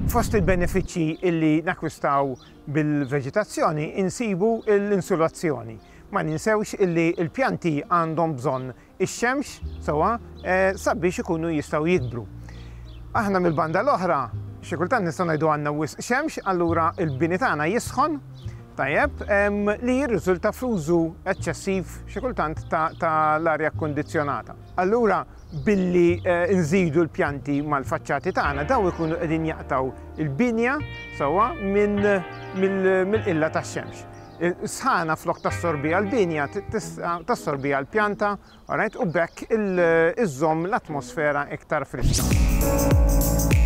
Fost il-benefiċċji illi nakwistaw bil-veġitazzjoni insibu l-insulazzjoni. Ma ninsewx illi l-pjanti għandhom bżonn ix-xemx sewwa sabiex ikunu jistgħu jikbru. Aħna mill-banda l-oħra, xi kultant nistgħu ngħidu għandna wisq xemx, allura l-bini tagħna jisħon, tajjeb, li jirriżulta fl-użu eċċessiv xi kultant ta' l-arja kkundizzjonata. Allura billi nżidu l-pjanti mal-faċċati tagħna, dawn ikunu qegħdin jaqtgħu l-binja sewwa mill-qilla tax-xemx. Sħana flok tassorbiha l-binja, tassorbiha l-pjanta, alright, u b'hekk iżżomm l-atmosfera iktar friska.